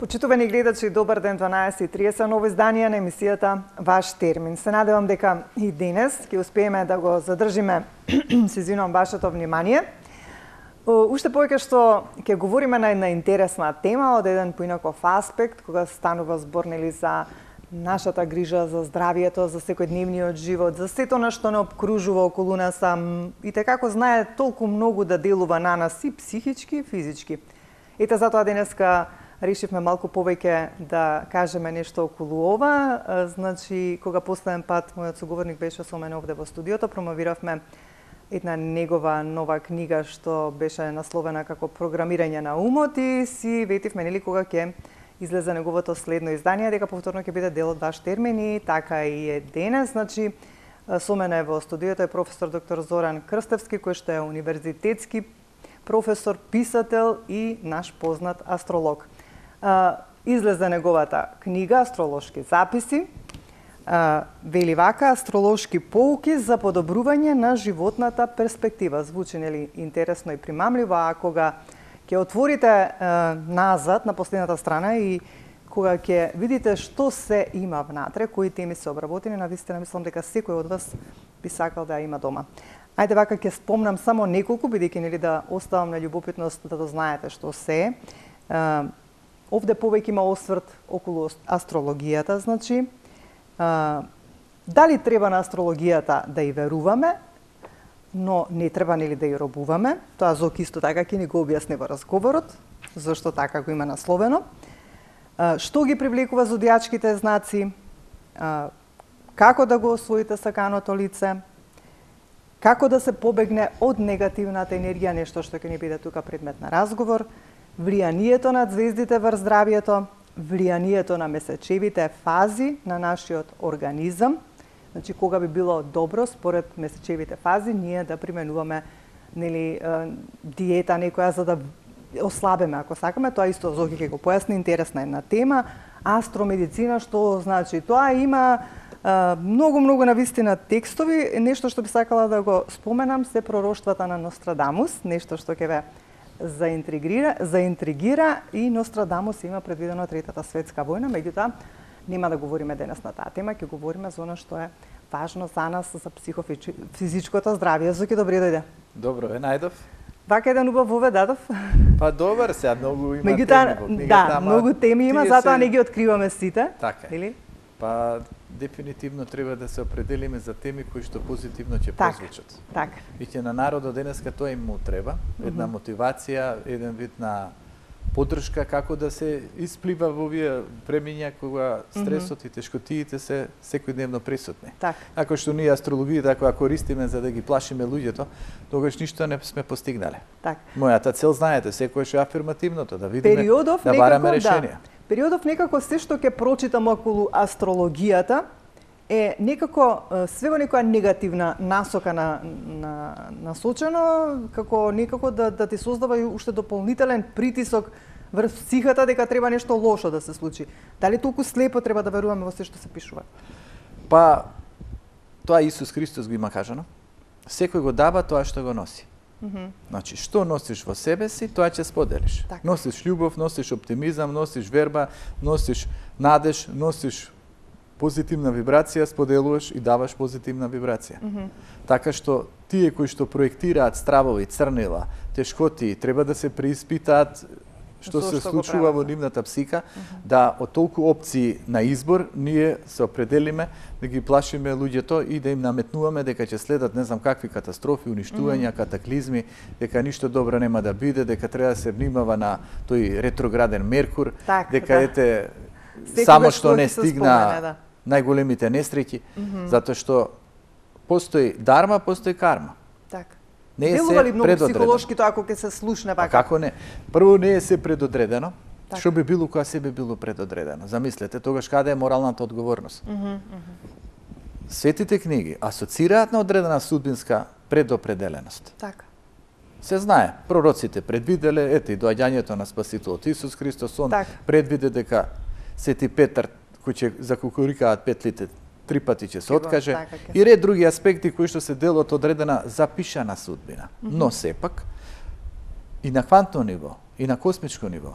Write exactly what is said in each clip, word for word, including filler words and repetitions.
Почитувани гледачи, добар ден, дванаесет и тридесет, ново издание на емисијата Ваш термин. Се надевам дека и денес ќе успееме да го задржиме се извинувам вашето внимание. Уште повеќе што ќе говориме на една интересна тема од еден поинаков аспект, кога станува збор нели за нашата грижа за здравието, за секојдневниот живот, за сето на што не обкружува околу нас, и така како знае толку многу да делува на нас и психички, и физички. Ете затоа денеска решивме малку повеќе да кажеме нешто околу ова. Значи, кога последен пат мојот соговорник беше со мене овде во студиото, промовиравме една негова нова книга што беше насловена како Програмирање на умот и си ветивме нели кога ќе излезе неговото следно издание, дека повторно ќе биде дел од Ваш термин и така и е денес. Значи, со мене во студиото е професор доктор Зоран Крстевски, кој што е универзитетски професор, писател и наш познат астролог. Излезе неговата книга Астролошки записи, вели вака: астролошки поуки за подобрување на животната перспектива. Звучи нели интересно и примамливо, а кога ќе отворите назад на последната страна и кога ќе видите што се има внатре, кои теми се обработени, навистина мислам дека секој од вас би сакал да ја има дома. Ајде вака ќе спомнам само неколку, бидејќи нели да оставам на љубопитност да дознаете што се е. Овде повеќе има осврт околу астрологијата, значи, а, дали треба на астрологијата да ја веруваме, но не треба нели да ја робуваме. Тоа Зок исто така ќе ни го објасни во разговорот, зашто така го има насловено. А, што ги привлекува зодијачките знаци, а, како да го освоите саканото лице, како да се побегне од негативната енергија, нешто што ќе ни биде тука предмет на разговор, влијанието на звездите врз здравието, влијанието на месечевите фази на нашиот организам. Значи, кога би било добро според месечевите фази ние да применуваме нели диета некоја за да ослабеме, ако сакаме. Тоа исто Зоки ќе го појасни, интересна една тема. Астромедицина, што значи тоа, има многу многу навистина текстови. Нешто што би сакала да го споменам се пророштвата на Нострадамус, нешто што ќе ве заинтригира, заинтригира и Нострадамус има предвидено Третата светска војна, меѓутоа нема да говориме денес на таа тема, ќе говориме за она што е важно за нас, за психофизичкото здравје. Зоки, добре дојде. Добро, е најдов. Вака еден убав воведадов. Па добар, сега многу има меѓутоа, теми во книгата. Да, многу теми има, затоа се... не ги откриваме сите. Така е. Или? Па дефинитивно треба да се определиме за теми кои што позитивно ќе так, прозвучат. Така. И ќе на народот денеска тоа им му треба, една mm -hmm. мотивација, еден вид на поддршка како да се исплива во овие премиња кога стресот mm -hmm. и тешкотиите се секојдневно присутни. Так. Ако што ние астрологијата ако ја користиме за да ги плашиме луѓето, тогаш ништо не сме постигнале. Так. Мојата цел, знаете, секојаш е афирмативното, да видиме, Периодов, да бараме решенија. Да. Периодов некако се што ќе прочитам околу астрологијата е некако све во некоја негативна насока на, на насочено, како некако да, да ти создава и уште дополнителен притисок врз психата дека треба нешто лошо да се случи. Дали толку слепо треба да веруваме во се што се пишува? Па, тоа Исус Христос го има кажано. Секој го дава тоа што го носи. Mm -hmm. Значи, што носиш во себе си, тоа ќе споделиш. Так. Носиш љубов, носиш оптимизам, носиш верба, носиш надеж, носиш позитивна вибрација, споделуваш и даваш позитивна вибрација. Mm -hmm. Така што тие кои што проектираат стравови, црнила, тешкоти, треба да се преиспитаат што се што случува во нивната псика, mm -hmm. да од толку опции на избор ние се определиме да ги плашиме луѓето и да им наметнуваме дека ќе следат не знам какви катастрофи, уништувања, mm -hmm. катаклизми, дека ништо добро нема да биде, дека треба да се внимава на тој ретрограден Меркур, так, дека да. ете секој само што не стигна спомене, да. најголемите несреќи, mm -hmm. затоа што постои дарма, постои карма. Так. Не е Делува ли се многу психолошки тоа ако ќе се слушне вака? А како не? Прво не е се предодредено. Так. Што би било кога се би било предодредено? Замислете, тогаш каде е моралната одговорност? Mm -hmm, mm -hmm. Светите книги асоцираат на одредена судбинска предопределеност. Така. Се знае, пророците предвиделе, ете и доаѓањето на Спасителот Исус Христос, он так. предвиде дека Свети Петар кој ќе закукурикаат петлите три пати ќе се откаже, така, и ред други аспекти кои што се дел од одредена запишана судбина. Mm -hmm. Но сепак, и на квантно ниво, и на космичко ниво,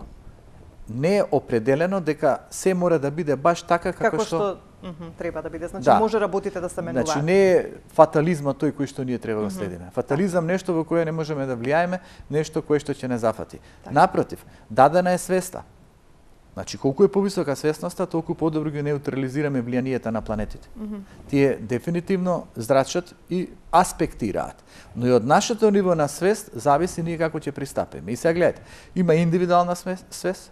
не е определено дека се мора да биде баш така како, како што, што mm -hmm, треба да биде. Значи да. може работите да се менуваат. Значи не е фатализмот тој кој што ние треба да следиме. Mm -hmm. Фатализам нешто во кое не можеме да влијаеме, нешто кое што ќе не зафати. Так. Напротив, дадена е свеста. Значи, колку е повисока свесноста, толку подобро ги неутрализираме влијанието на планетите. Mm -hmm. Тие дефинитивно зрачат и аспектираат. Но и од нашето ниво на свест зависи ние како ќе пристапиме. И сега гледате, има индивидуална свест,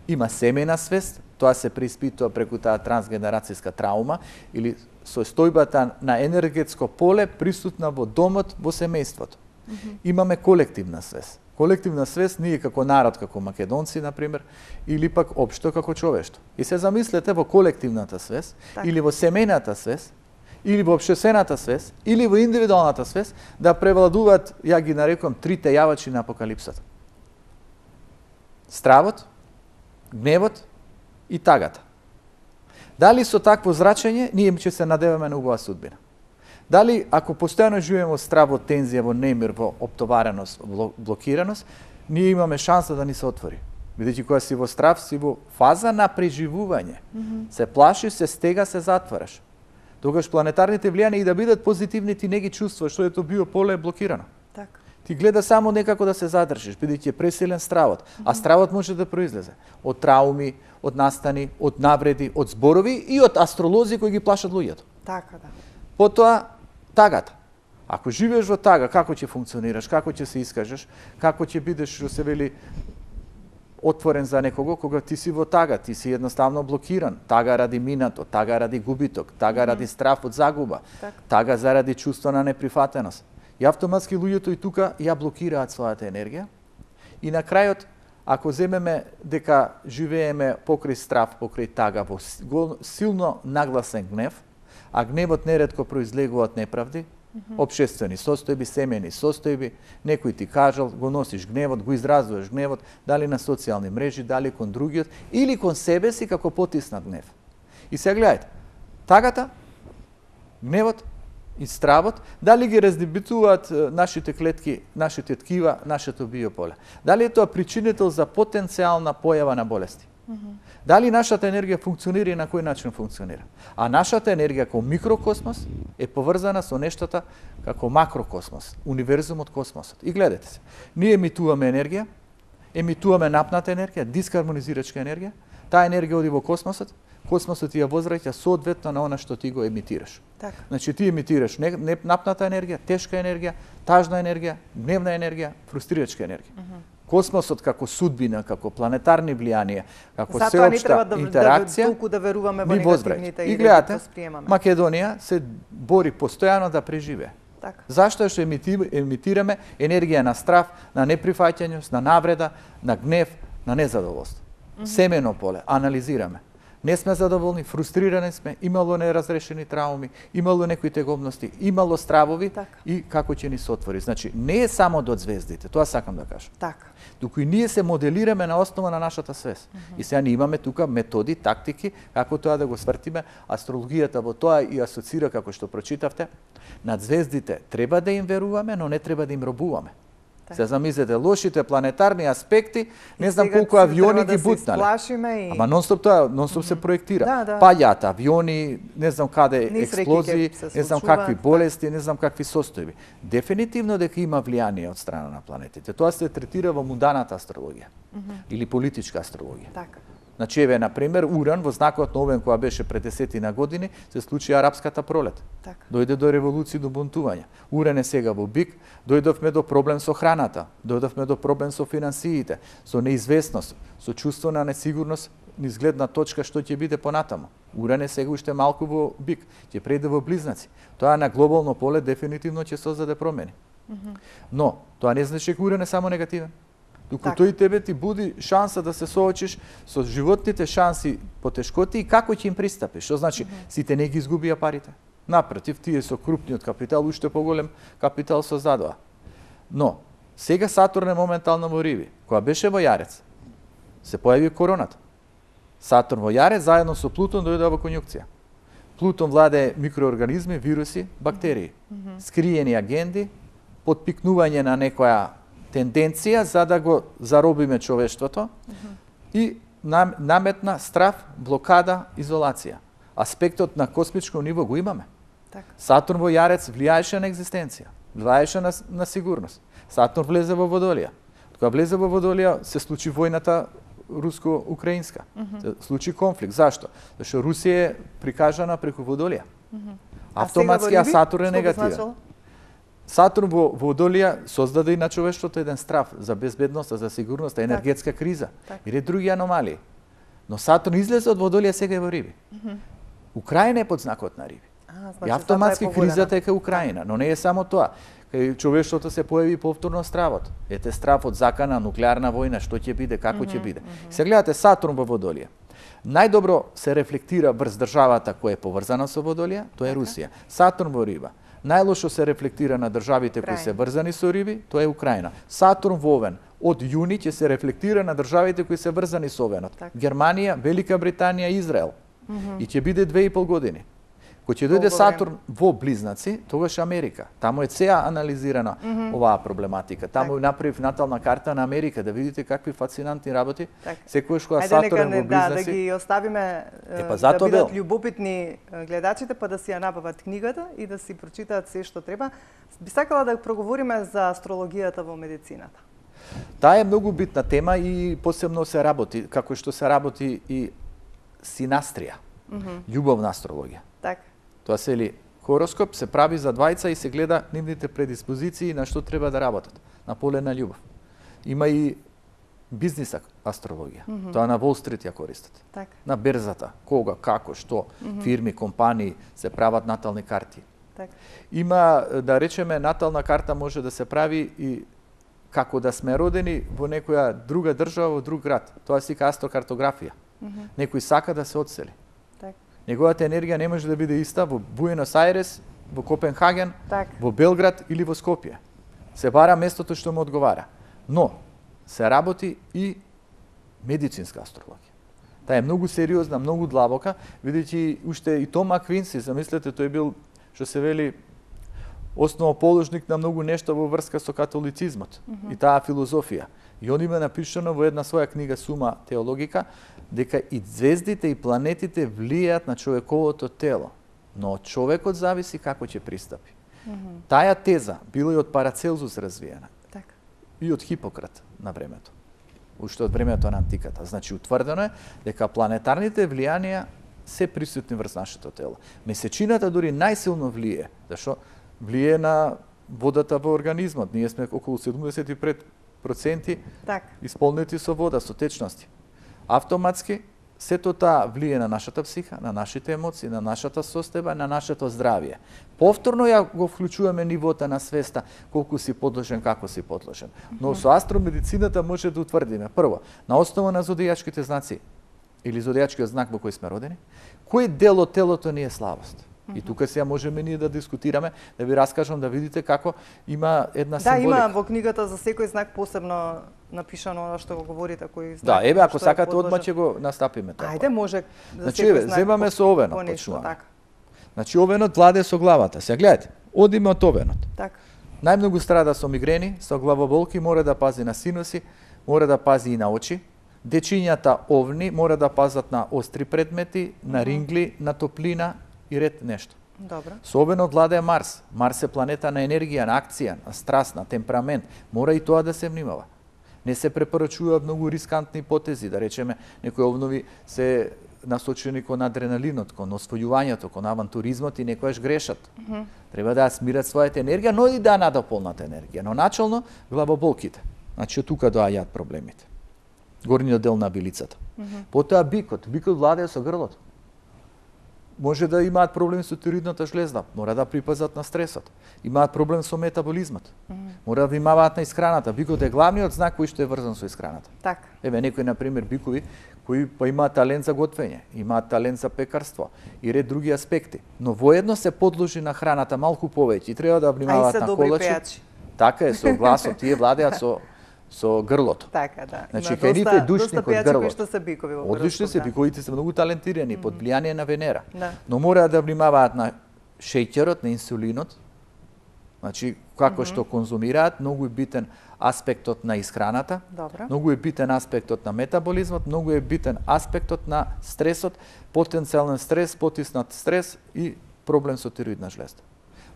има семејна свест, тоа се преиспитува преку таа трансгенерацијска траума или состојбата на енергетско поле присутна во домот, во семејството. Mm -hmm. Имаме колективна свест. Колективна свест ние како народ, како македонци, например, или пак општо како човештво. И се замислете во колективната свест, так. или во семејната свест, или во општествената свест, или во индивидуалната свест, да превладуваат, ја ги нарекувам, трите јавачи на апокалипсата. Стравот, гневот и тагата. Дали со такво зрачење, ние ќе се надеваме на убава судбина? Дали, ако постојано живееме во страв, во тензија, во немир, во оптовареност, во блокираност, ние имаме шанса да ни се отвори. Бидејќи кога си во страв, си во фаза на преживување. Mm -hmm. Се плашиш, се стега, се затвараш. Тогаш планетарните влијанија и да бидат позитивни, ти не ги чувствуваш, што ето биополе е блокирано. Так. Ти гледа само некако да се задржиш, бидејќи е пресилен стравот. Mm -hmm. А стравот може да произлезе од трауми, од настани, од навреди, од зборови и од астролози кои ги плашат луѓето. Така, да. Потоа, тагата. Ако живееш во тага, како ќе функционираш, како ќе се искажеш, како ќе бидеш, што се вели, отворен за некого, кога ти си во тага, ти си едноставно блокиран. Тага ради минато, тага ради губиток, тага ради страв од загуба, так. Тага заради чувство на неприфатеност. И автоматски луѓето и тука ја блокираат својата енергија. И на крајот, ако земеме дека живееме покрај страв, покрај тага, во силно нагласен гнев, а гневот неретко произлегува од неправди, mm -hmm. општествени состојби, семејни состојби, некој ти кажал, го носиш гневот, го изразуваш гневот, дали на социјални мрежи, дали кон другиот, или кон себе си како потиснат гнев. И сега гледајте, тагата, гневот и стравот, дали ги раздебитуваат нашите клетки, нашите ткива, нашето биополе? Дали е тоа причинител за потенцијална појава на болести? Mm -hmm. Дали нашата енергија функционира и на кој начин функционира? А нашата енергија како микрокосмос е поврзана со нештата како макрокосмос, универзумот, космосот. И гледате се, ние емитуваме енергија, емитуваме напната енергија, дискармонизирачка енергија, таа енергија оди во космосот, космосот ја возвраќа соодветно на она што ти го емитираш. Так. Значи ти емитираш не, не, напната енергија, тешка енергија, тажна енергија, гневна енергија, фрустрирачка енергија. Mm -hmm. Космосот како судбина, како планетарни влијанија, како сеопшта да, интеракција, да, толку да веруваме во негативните и, и гледате, да восприемаме. Македонија се бори постојано да преживее. Така. Зашто што емитираме енергија на страв, на неприфаќањето, на навреда, на гнев, на незадоволство. Mm -hmm. Семено поле, анализираме. Не сме задоволни, фрустрирани сме, имало неразрешени трауми, имало некои тегобности, имало стравови так. И како ќе ни се отвори. Значи, не е само од звездите, тоа сакам да кажам. Така. Туку и ние се моделираме на основа на нашата свест. Mm -hmm. И сега ние имаме тука методи, тактики, како тоа да го свртиме. Астрологијата во тоа и асоцира, како што прочитавте. Над звездите треба да им веруваме, но не треба да им робуваме. Се замислете, лошите планетарни аспекти, не знам колку авиони ги бутнале. И... Ама нон-стоп тоа, нон-стоп mm -hmm. се проектира. Да, да. Паѓаат авиони, не знам каде Нисреки експлозии, не знам какви болести, не знам какви состојби. Дефинитивно дека има влијание од страна на планетите. Тоа се третира во мунданата астрологија mm -hmm. или политичка астрологија. Така. Значи, еве, например, Уран, во знакот на Овен, која беше пред десетина години, се случи арапската пролет. Так. Дојде до револуција, до бунтување. Уран е сега во бик, дојдовме до проблем со храната, дојдовме до проблем со финансиите, со неизвестност, со чувство на несигурност, низ гледна точка што ќе биде понатамо. Уран е сега уште малку во бик, ќе преде во близнаци. Тоа на глобално поле дефинитивно ќе создаде промени. Mm -hmm. Но, тоа не значи дека Уран е само негативен. Туку тој тебе ти буди шанса да се соочиш со животните шанси, потешкоти и како ќе им пристапиш. Што значи, mm -hmm. сите не ги изгубија парите. Напротив, тие со крупниот капитал, уште поголем капитал создадоа. Но, сега Сатурн е моментално во Риби. Кога беше во Јарец, се појави короната. Сатурн во Јарец заедно со Плутон дојде во конјукција. Плутон владее микроорганизми, вируси, бактерии. Mm -hmm. Скриени агенди, подпикнување на некоја тенденција за да го заробиме човештвото mm -hmm. и наметна страв, блокада, изолација. Аспектот на космичко ниво го имаме. Така. Сатурн во Јарец влијаеше на екзистенција, влијаеше на, на сигурност. Сатурн влезе во Водолија. Кога влезе во Водолија, се случи војната руско-украинска. Mm -hmm. Се случи конфликт. Зашто? Зашто Русија е прикажана преку Водолија. Mm -hmm. Автоматски, а, а Сатурн е негативен. Сатурн во Водолија создаде и на човештвото еден страв за безбедност, за сигурност, енергетска так. криза так. или други аномалии. Но Сатурн излезе од Водолија, сега е во Риби. Mm -hmm. Украина е под знакот на Риби. А, значи, и автоматски е кризата е кај Украина, но не е само тоа. Кај човештвото се појави повторно стравот. Ете стравот, закана, нуклеарна војна, што ќе биде, како ќе mm -hmm, биде. Mm -hmm. Се гледате Сатурн во Водолија. Најдобро се рефлектира врз државата која е поврзана со Водолија, тоа е Русија. Сатурн во Риба. Најлошо се рефлектира на државите кои се врзани со Риби, тоа е Украина. Сатурн во Овен од јуни ќе се рефлектира на државите кои се врзани со Овенот. Так. Германија, Велика Британија, Израел. Mm -hmm. И ќе биде две и пол години. Кога ќе дојде Сатурн во Близнаци, тогаш Америка. Таму е цеа анализирана mm -hmm. оваа проблематика. Таму так. направив натална карта на Америка, да видите какви фасцинантни работи. Так. Секојаш кога Сатурн во Близнаци... Да, да ги оставиме е, па, да бидат љубопитни гледачите, па да си ја набават книгата и да си прочитаат се што треба. Би сакала да проговориме за астрологијата во медицината. Таа е многу битна тема и посебно се работи, како што се работи и синастрија, mm -hmm. љубовна астрологија. Так. Тоа се ли хороскоп се прави за двајца и се гледа нивните предиспозиции на што треба да работат, на поле на љубов. Има и бизнис астрологија. Mm -hmm. Тоа на Wall Street ја користат. Так. На берзата, кога, како, што, mm -hmm. фирми, компании се прават натални карти. Так. Има, да речеме, натална карта може да се прави и како да сме родени во некоја друга држава, во друг град. Тоа се вика астрокартографија. Mm -hmm. Некој сака да се одсели. Так. Неговата енергија не може да биде иста во Буенос Ајрес, во Копенхаген, так. во Белград или во Скопје. Се бара местото што му одговара. Но се работи и медицинска астрологија. Таа е многу сериозна, многу длабока, видејќи уште и Тома Квинси, замислете, тој бил, што се вели, основоположник на многу нешта во врска со католицизмот mm -hmm. и таа филозофија. И он има напишано во една своја книга Сума теологика дека и звездите и планетите влијаат на човековото тело, но од човекот зависи како ќе пристапи. Mm -hmm. Таја теза била и од Парацелзус развиена. Так. И од Хипократ на времето. Уште од времето на антиката. Значи утврдено е дека планетарните влијанија се присутни врз нашето тело. Месечината дури најсилно влие, зашто влие на водата во организмот. Ние сме околу седумдесет и пет проценти так. Исполнети со вода, со течности. Автоматски, сето таа влие на нашата психа, на нашите емоции, на нашата состојба, на нашето здравје. Повторно ја го вклучуваме нивото на свеста, колку си подложен, како си подложен. Но со астромедицината може да утврдиме, прво, на основа на зодијачките знаци, или зодијачкиот знак во кој сме родени, кој дел од телото ни е слабост. И тука сега можеме ние да дискутираме, да ви раскажам, да видите како има една да, символика. Да, има во книгата за секој знак посебно напишано она што го говорите, кој знак. Да, еве, ако сакате одма ќе го настапиме тоа. Ајде, може за значи, секој еве, знак. земаме со овенот, почнуваме. Значи, овенот владе со главата. Сега гледате, одиме од овенот. Така. Најмногу страда со мигрени, со главоболки, мора да пази на синуси, мора да пази и на очи. Дечињата овни мора да пазат на остри предмети, на рингли, на топлина и ред нешто. Добро. Со овенот владее Марс. Марс е планета на енергија, на акција, на страст, на темперамент. Мора и тоа да се внимава. Не се препорачуваат многу рискантни потези, да речеме, некои овнови се насочени кон адреналинот, кон освојувањето, кон авантуризмот и некојаш грешат. Mm -hmm. Треба да смират својата енергија, но и да надополнат енергија. Но начално главоболките. Значи, од тука доаѓаат проблемите. Горниот дел на билицата. Mm -hmm. Потоа бикот. Бикот владее со грлото. Може да имаат проблем со тироидната жлезда, мора да припазат на стресот. Имаат проблем со метаболизмот. Mm -hmm. Мора да внимаваат на исхраната. Бикот е главниот знак кој што е врзан со исхраната. Так. Еве некои на пример бикови кои па имаат талент за готвење, имаат талент за пекарство и ред други аспекти, но воедно се подложи на храната малку повеќе и треба да внимаваат на колачи. Така е, со гласот, тие владеат со со грлото. Така, да. Значи, кај нив е душник од грлото. Доста се бикови во одлични се, биковите се многу талентирани, mm -hmm. под влијание на Венера. Да. Но мора да внимаваат на шеќерот, на инсулинот, Значи, како mm -hmm. што конзумираат, многу е битен аспектот на исхраната, Добре. многу е битен аспектот на метаболизмот, многу е битен аспектот на стресот, потенцијален стрес, потиснат стрес и проблем со тироидна жлезда.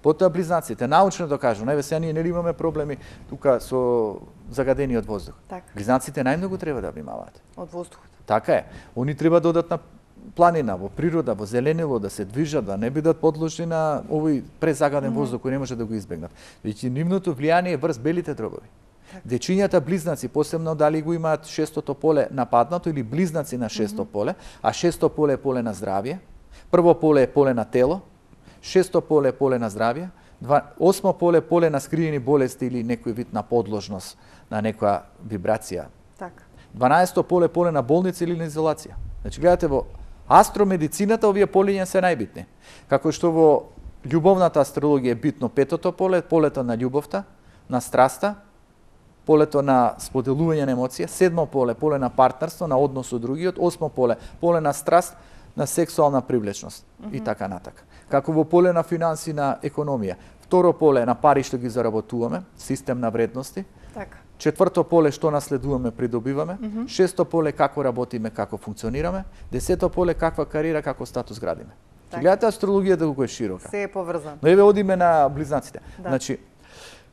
Потоа близнаците, научно докажано, еве сега ние нели имаме проблеми тука со загадениот воздух. Так. Близнаците најмногу треба да внимаваат. Од воздухот. Така е. Они треба да одат на планина, во природа, во зеленило, да се движат, да не бидат подложни на овој презагаден mm -hmm. воздух кој не може да го избегнат. Веќе нивното влијание е врз белите дробови. Так. Дечињата близнаци, посебно дали го имаат шестото поле нападнато или близнаци на шесто mm -hmm. поле, а шесто поле е поле на здравје, прво поле е поле на тело, шесто поле е поле на здравје, два, осмо поле е поле на скриени болести или некој вид на подложност на некоја вибрација. Така. дванаесто поле е поле на болница или на изолација. Значи гледате во астромедицината овие полиња се најбитни. Како што во љубовната астрологија е битно петото поле, полето на љубовта, на страста, полето на споделување на емоција, седмо поле, поле на партнерство, на однос со другиот, осмо поле, поле на страст, на сексуална привлечност mm -hmm. и така натака. Како во поле на финанси, на економија. Второ поле на пари што ги заработуваме, систем на вредности. Така. Четврто поле што наследуваме, придобиваме. Mm -hmm. Шесто поле како работиме, како функционираме. Десето поле каква кариера, како статус градиме. Так. Гледате астрологијата колку е широка. Се е поврзано. Но еве одиме на близнаците. Да. Значи,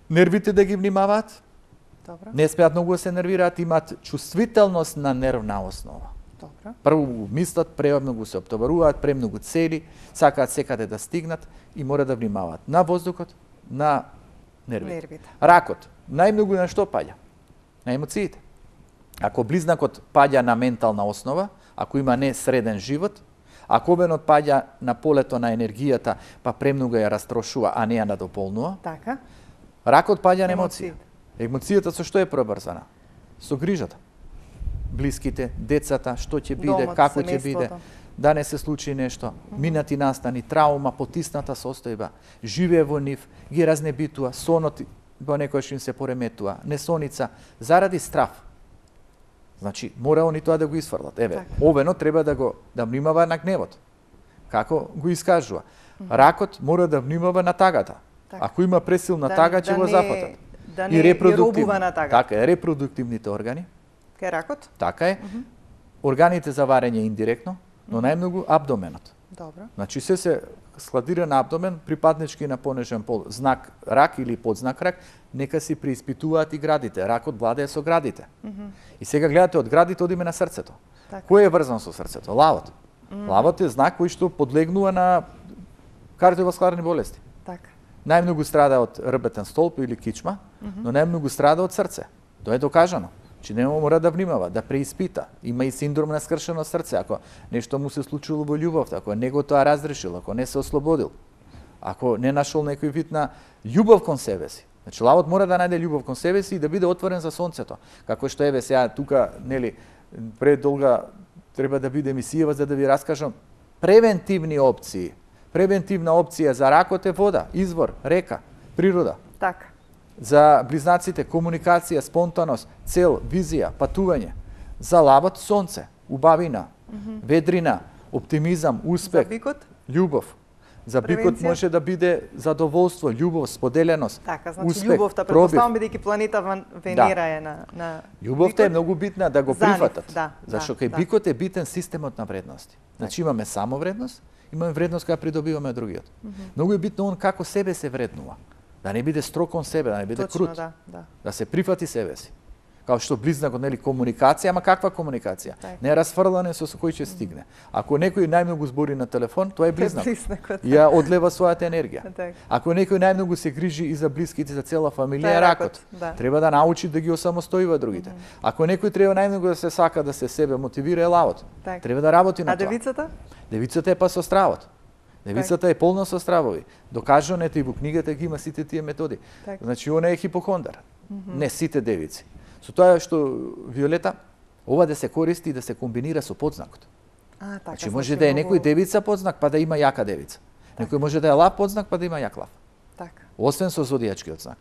нервите да ги внимаваат. Добро. Не смеат многу да се нервираат, имаат чувствителност на нервна основа. Добро. Прво мислат, премногу се оптоваруваат, премногу цели, сакаат секаде да стигнат и мора да внимаваат на воздухот, на нервите. Нервите. Ракот, најмногу на што паѓа? На емоциите. Ако близнакот паѓа на ментална основа, ако има не среден живот, ако обенот паѓа на полето на енергијата, па премногу ја растрошува, а не ја надополнува, Така. ракот паѓа на емоција. Емоциите. Емоцијата со што е пробрзана? Со грижата. Блиските, децата, што ќе биде, Домот, како ќе семејството. биде, да не се случи нешто, минати настани, траума, потисната состојба, живее во нив, ги разнебитува, сонот во некојаш им се пореметува, несоница, заради страв. Значи, мора они тоа да го исфрлат. Еве, Так. овено треба да го да внимава на гневот. Како го искажува. Ракот мора да внимава на тагата. Так. Ако има пресилна Да- тага, да ќе го не- зафатат. Да не И ги репродуктивни. робува на тага. Така е, репродуктивните органи, Кај ракот? така е. Органите за варење индиректно, но најмногу абдоменот. Добро. Значи се се складира на абдомен, припаднички на понежен пол, знак рак или подзнак рак, нека си преиспитуваат и градите. Ракот владее со градите. И сега гледате од градите одиме на срцето. Така. Кој е врзан со срцето? Лавот. Лавот е знак кој што подлегнува на кардиоваскуларни болести. Така. Најмногу страда од рбетен столб или кичма, но најмногу страда од срце. Тоа е докажано. Че не мора да внимава, да преиспита. Има и синдром на скршено срце, ако нешто му се случило во љубовта, ако не го тоа разрешил, ако не се ослободил, ако не нашол некој вид на љубов кон себе си. Значи лавот мора да најде љубов кон себе си и да биде отворен за сонцето. Како што еве сега тука, нели, пред долга треба да биде емисија за да ви раскажам превентивни опции. Превентивна опција за ракот е вода, извор, река, природа. Така. За близнаците комуникација, спонтаност, цел, визија, патување. За лавот сонце, убавина, ведрина, оптимизам, успех, За бикот? љубов. За бикот Превенција? може да биде задоволство, љубов, споделеност, Така, значи успех, љубовта, пробив. претпоставам бидејќи планета Ван- Венера е на на Љубовта е бикот. многу битна да го За нив, прифатат. да, Зашто да, кај да. бикот е битен системот на вредности. Значи имаме само вредност, имаме вредност која придобиваме од другиот. Многу е битно он како себе се вреднува. Да не биде строг кон себе, да не биде Точно, крут. да, да. Да се прифати себе си. Као што близнакот, нели, комуникација, ама каква комуникација? Така. Не расфрлане со кој ќе стигне. Ако некој најмногу збори на телефон, тоа е близнак. близнакот. Ја одлева својата енергија. Така. Ако некој најмногу се грижи и за блиските, за цела фамилија, Тоа е е ракот, ракот. да. Треба да научи да ги осамостојува другите. Ако некој треба најмногу да се сака да се себе мотивира, е лавот. Така. Треба да работи на А тоа. девицата? Девицата е па со стравот. Девицата е полна со стравови. Докажано е и во книгата ги има сите тие методи. Така. Значи, она е хипохондар. Не сите девици. Со тоа што Виолета, ова да се користи и да се комбинира со подзнакот. А, така. Значи, може да е многу- некој девица подзнак, па да има јака девица. Некој може да е лав подзнак, па да има јак лав. Така. Освен со зодијачкиот знак.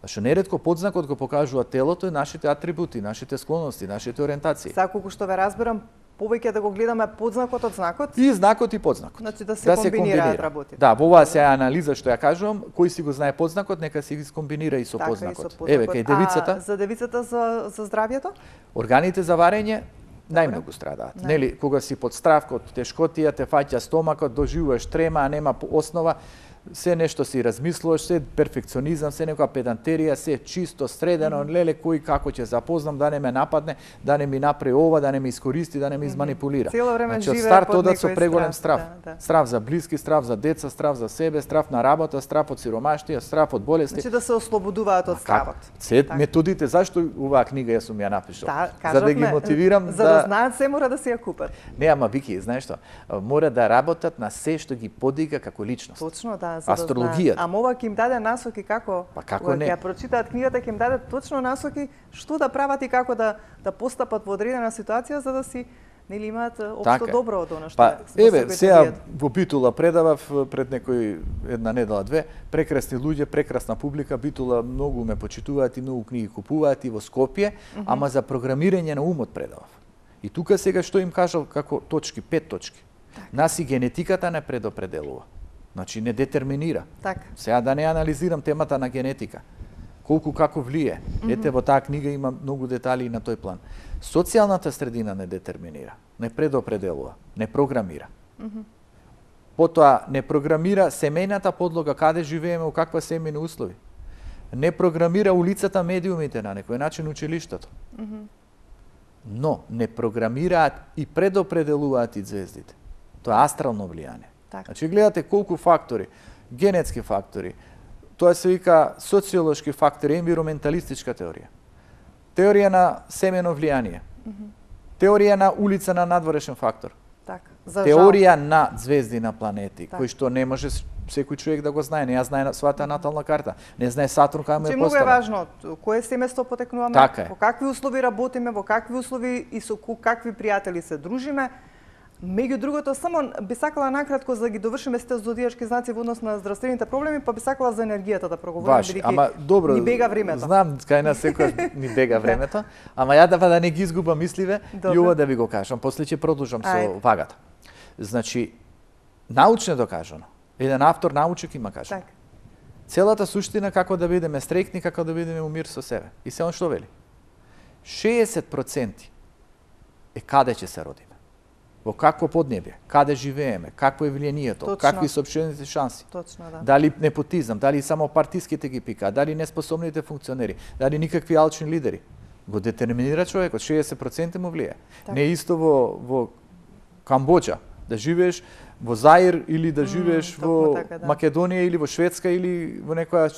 Зашто неретко подзнакот го покажува телото и нашите атрибути, нашите склоности, нашите ориентации. Сега колку што ве разбирам, повеќе да го гледаме подзнакот од знакот? И знакот и подзнакот. Значи да се да комбинираат работите. Да, во оваа се анализа што ја кажувам, кој си го знае подзнакот, нека си ги комбинира и со така, подзнакот. И со подзнакот. Еве кај девицата. А за девицата за за здравјето? Органите за варење најмногу страдаат. Не. Нели, кога си под страв, код тешкотија, те фаќа стомакот, доживуваш трема, а нема основа, се нешто си размислуваш, се перфекционизам, се некоја педантерија, се чисто, средено, mm -hmm. леле кој како ќе запознам, да не ме нападне, да не ми направи ова, да не ме искористи, да не ме изманипулира. Цело време значи, живее старт под одат со некој преголем страв. страв. Да, да. Страв за блиски, страв за деца, страв за себе, страв на работа, страв од сиромаштија, страв од болести. Значи да се ослободуваат од стравот. Се методите, зашто оваа книга јас сум ја напишал? Да, за да ги мотивирам за да, да знаат се мора да се ја купат. Не, ама Вики, знаеш што? Мора да работат на се што ги подига како личност. Точно, да, за астрологијата. Да ама ова ќе им даде насоки како, па како кога не? Ја прочитаат книгата, ќе им даде точно насоки што да прават и како да да постапат во одредена ситуација за да си нели имаат општо така добро од она што па, еве, сега во Битула предавав пред некој една недела две, прекрасни луѓе, прекрасна публика, Битула многу ме почитуваат и многу книги купуваат и во Скопје, mm -hmm. ама за програмирање на умот предавав. И тука сега што им кажал како точки, пет точки. Так. Нас и генетиката не предопределува. Значи не детерминира. Так. Сега да не анализирам темата на генетика. Колку како влие. Mm -hmm. Ете во таа книга има многу детали на тој план. Социјалната средина не детерминира, не предопределува, не програмира. Mm -hmm. Потоа не програмира семејната подлога каде живееме, во каква семејни услови. Не програмира улицата, медиумите на некој начин училиштето. Mm -hmm. Но не програмираат и предопределуваат и звездите. Тоа е астрално влијание. Так. Значи гледате колку фактори, генетски фактори, тоа се вика социолошки фактори, енвироменталистичка теорија. Теорија на семено влијание. Mm -hmm. Теорија на улица на надворешен фактор. Так. Теорија на звезди на планети, так. Кој што не може секој човек да го знае. Не ја знае својата натална карта. Не знае Сатурн кај му е поставен. Многу е важно кое семејство потекнуваме, така во какви услови работиме, во какви услови и со какви пријатели се дружиме. Меѓу другото, само би сакала накратко за да ги довршиме сите зодијачки знаци во однос на здравствените проблеми, па би сакала за енергијата да проговориме, бидејќи ама добро, ни бега времето. Знам, кај нас секој ни бега времето, ама ја да да не ги изгубам мисливе и ова да ви го кажам, после ќе продолжам со Ајде. Вагата. Значи, научно докажано, еден автор научник има кажа. Так. Целата суштина како да бидеме стрекни, како да бидеме у мир со себе. И се он што вели? шеесет проценти е каде ќе се родиме. Во какво поднебје, каде живееме, какво е влијанието, Точно. какви се општените шанси. Точно, да. Дали непотизам, дали само партиските ги пикаат, дали неспособните функционери, дали никакви алчни лидери. Го детерминира човекот, шеесет проценти му влијае. Не е исто во, во Камбоџа, да живееш во Заир или да живееш mm, во така, да. Македонија или во Шведска или во некоја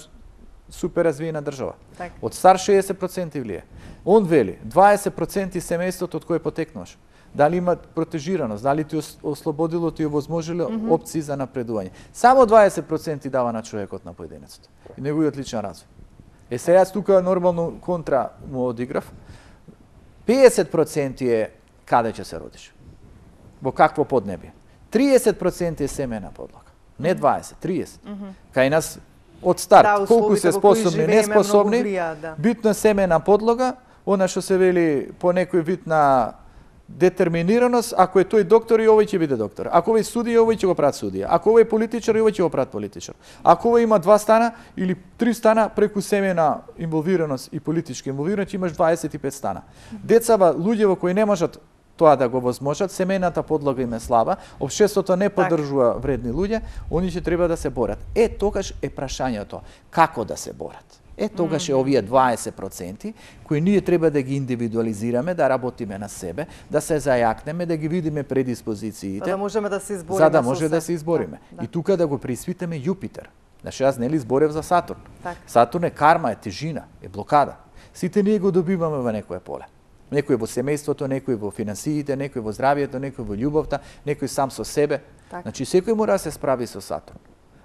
супер развиена држава. Так. Од стар шеесет проценти влијае. Он вели, дваесет проценти семејството од кое потекнуваш. Дали има протежираност, дали ти ослободило, ти овозможило mm -hmm. опции за напредување. Само дваесет проценти дава на човекот на поединецот и неговиот личен развој. Е сега јас тука нормално контра му одиграв. пеесет проценти е каде ќе се родиш. Во какво поднебје. триесет проценти е семена подлога. Не дваесет, триесет. Mm -hmm. Кај нас од старт, да, колку се способни, неспособни, влија, да. Битно семена подлога, она што се вели по некој вид на детерминираност, ако е тој доктор и овој ќе биде доктор. Ако овој судија, овој ќе го прават судија. Ако овој политичар, овој ќе го прават политичар. Ако овој има два стана или три стана преку семена инволвираност и политичка инволвираност, имаш дваесет и пет стана. Децава, луѓе кои не можат тоа да го возможат, семејната подлога им е слаба, општеството не поддржува вредни луѓе, они ќе треба да се борат. Е, тогаш е прашањето како да се борат. Е, тогаш е овие дваесет проценти кои ние треба да ги индивидуализираме, да работиме на себе, да се зајакнеме, да ги видиме предиспозициите. За да можеме да се избориме. За да може да се избориме. Да, да. И тука да го преиспитаме Јупитер. Значи, јас нели зборев за Сатурн. Так. Сатурн е карма, е тежина, е блокада. Сите ние го добиваме во некое поле. Некој во семејството, некој во финансиите, некој во здравието, некој во љубовта, некој сам со себе. Так. Значи, секој мора да се справи со Сатурн.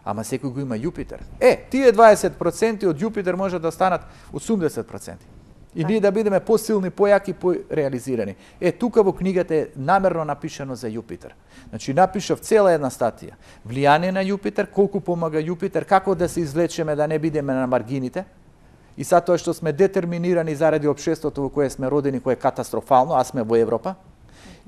Ама секој го има Јупитер. Е, тие дваесет проценти од Јупитер може да станат осумдесет проценти. И ние да бидеме посилни, појаки, пореализирани. Е, тука во книгата е намерно напишано за Јупитер. Значи, напишав цела една статија. Влијание на Јупитер, колку помага Јупитер, како да се извлечеме да не бидеме на маргините. И сад тоа што сме детерминирани заради општеството во кое сме родени, кое е катастрофално, а сме во Европа.